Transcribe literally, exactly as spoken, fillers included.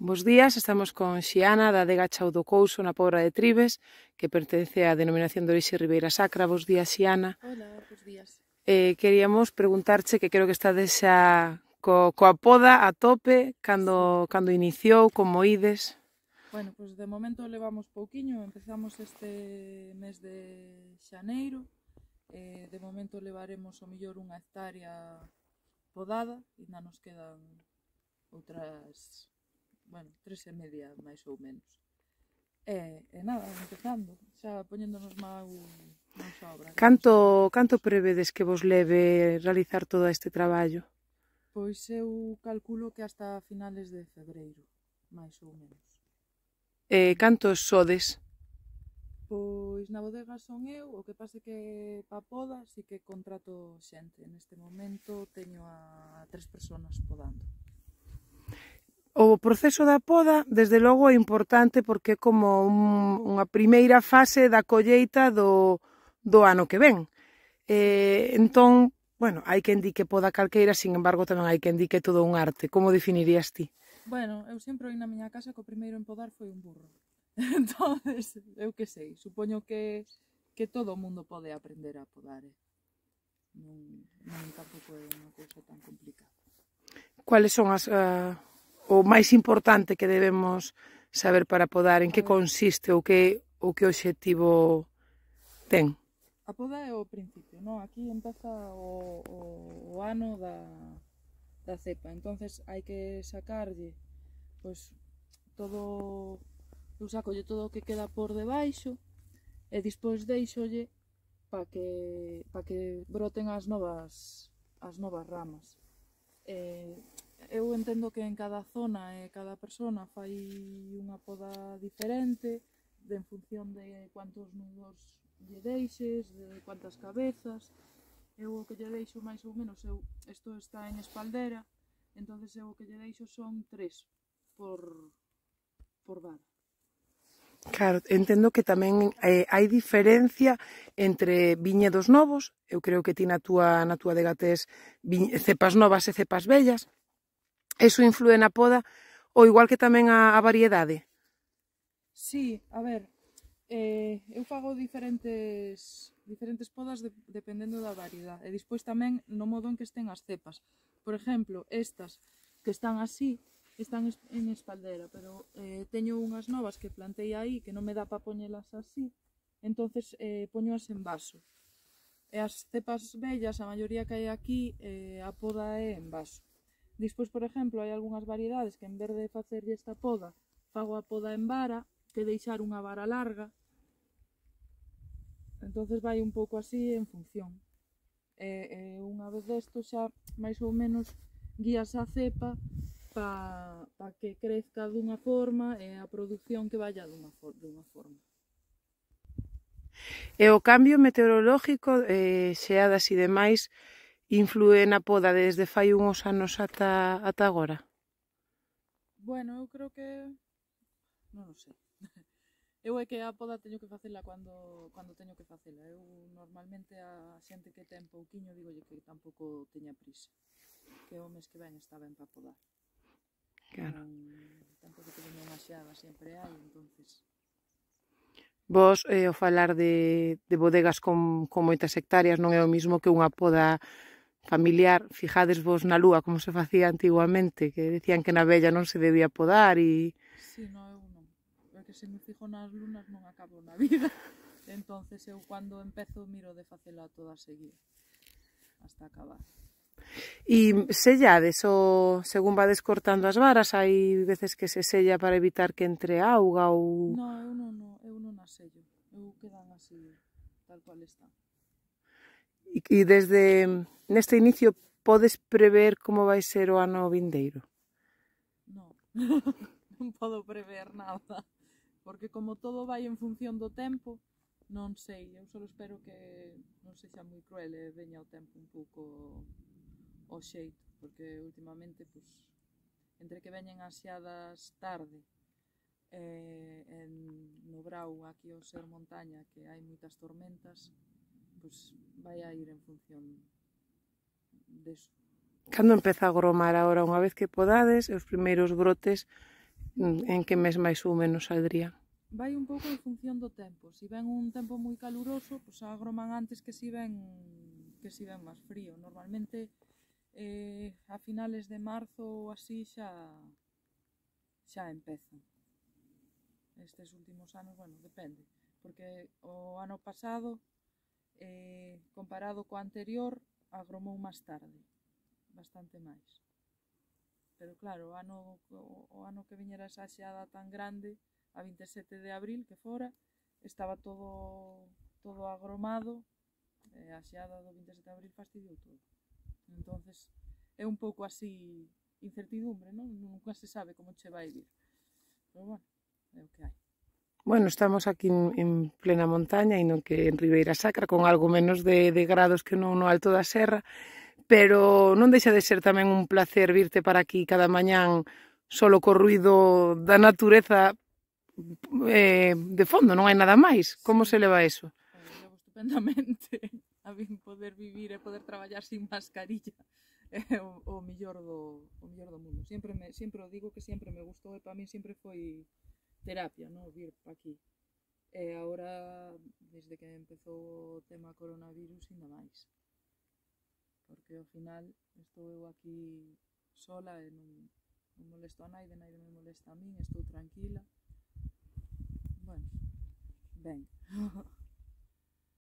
Bos días, estamos con Xiana da adega Chao do Couso na Pobra de Tribes, que pertence á denominación de orixe Ribeira Sacra. Bos días, Xiana. Hola, bos días. Eh, queríamos preguntarche, que creo que estades xa co, coa poda a tope, cando, Sí. cando iniciou, como ides. Bueno, pois pues de momento levamos pouquiño, empezamos este mes de xaneiro, eh, de momento levaremos o millor unha hectárea podada, e ainda nos quedan outras, bueno, tres e media máis ou menos. E, e nada, empezando, xa poñéndonos máis máis obra. Canto, canto prevedes que vos leve realizar todo este traballo? Pois eu calculo que hasta finales de febreiro, máis ou menos. Eh, cantos sodes? Pois na bodega son eu, o que pase que pa poda si que contrato xente. Neste momento teño a tres persoas podando. O proceso da poda, desde logo, é importante porque é como un, unha primeira fase da colleita do, do ano que ven. Eh, entón, bueno, hai quen di que poda calqueira, sin embargo, tamén hai quen di que é todo un arte. Como definirías ti? Bueno, eu sempre oi na miña casa que o primeiro en podar foi un burro. Entonces, eu que sei, supoño que, que todo o mundo pode aprender a podar, eh? Non, non tampouco é unha cousa tan complicada. Cuáles son as, uh, o máis importante que debemos saber para podar? En que consiste ou que, ou que obxectivo ten? A poda é o principio, non? Aquí empeza o, o, o ano da, da cepa, entonces hai que sacarlle pois todo, eu sacolle todo o que queda por debaixo e despois deixolle para que, pa que broten as novas, as novas ramas. Eh, eu entendo que en cada zona e cada persona fai unha poda diferente de, en función de cuántos nudos lle deixes, de cuántas cabezas. Eu o que lle deixo máis ou menos, eu, isto está en espaldera, entonces eu o que lle deixo son tres por, por vara. Claro, entendo que tamén eh, hai diferencia entre viñedos novos, eu creo que ti na túa, na túa adega tes cepas novas e cepas vellas, eso influe na poda, ou igual que tamén a, a variedade? Sí, a ver, eh, eu fago diferentes, diferentes podas de, dependendo da variedade, e despois tamén no modo en que estén as cepas. Por exemplo, estas que están así, están en espaldera, pero eh, teño unhas novas que plantei aí que non me dá para poñelas así, entonces eh, poñoas en vaso. E as cepas bellas, a maioría que hai aquí, eh, a poda é en vaso. Despois, por exemplo, hai algunhas variedades que en vez de facerlle esta poda, fago a poda en vara, que deixar unha vara larga, entonces vai un pouco así en función. E, e unha vez desto xa máis ou menos guías a cepa para pa que crezca dunha forma e a produción que vaya dunha, for, dunha forma. E o cambio meteorológico, eh, xeadas e demais, influe na poda desde fai uns anos ata, ata agora? Bueno, eu creo que... non o sei. Eu é que a poda teño que facela cando, cando teño que facela. Eu normalmente a xente que ten pouquiño digolle que tampouco teña prisa. Que o mes que ven está ben para podar. Claro. Non, tampouco que veña unha xeada sempre hai, entonces... Vos, eh, ao falar de, de bodegas con, con moitas hectáreas, non é o mismo que unha poda familiar. Fijades vos na lúa como se facía antiguamente, que decían que na vella non se debía podar e... Sí, no, eu non. É que se me fijo nas lunas non acabo na vida. Entonces eu cando empezo miro de facela toda seguida hasta acabar. E sellades o según vades cortando as varas, hai veces que se sella para evitar que entre auga ou... No, eu non, no, eu non as sello. Eu quedan así, tal cual están. E, e desde neste inicio podes prever como vai ser o ano vindeiro? Non, non podo prever nada. Porque como todo vai en función do tempo, non sei. Eu só espero que non sexa moi cruel e veña o tempo un pouco o xeito, porque últimamente, pues, entre que veñen as xeadas tarde e en, no Brau, aquí ao ser montaña, que hai moitas tormentas, pues, vai a ir en función deso. Cando empeza a gromar agora, unha vez que podades, os primeiros brotes, En que mes máis ou menos saldría? Vai un pouco en función do tempo. Si ven un tempo moi caluroso, pois agroman antes que si ven que si ven máis frío. Normalmente eh, a finales de marzo ou así xa xa empezan. Estes últimos anos, bueno, depende, porque o ano pasado, eh, comparado co anterior, agromou máis tarde, bastante máis. Pero claro, o ano, o, o ano que viñera esa xeada tan grande, a vinte e sete de abril, que fora, estaba todo todo agromado, e a xeada do vinte e sete de abril fastidiou todo. Entonces é un pouco así incertidumbre, non? Nunca se sabe como che vai vir. Pero bueno, é o que hai. Bueno, estamos aquí en, en plena montaña e non que en Ribeira Sacra, con algo menos de, de grados que non no alto da serra, pero non deixa de ser tamén un placer virte para aquí cada mañán solo co ruido da natureza eh, de fondo, non hai nada máis. Como se leva eso? Eh, levo estupendamente. A min poder vivir e poder traballar sin mascarilla é o, o millor do o millor do mundo. Sempre me sempre o digo que sempre me gustou e para min sempre foi terapia, no, vir para aquí. E agora, desde que empezou o tema coronavirus, ainda máis. Porque ao final estou eu aquí sola e non, non molesto a naide, naide me molesta a min, estou tranquila. Bueno, ben.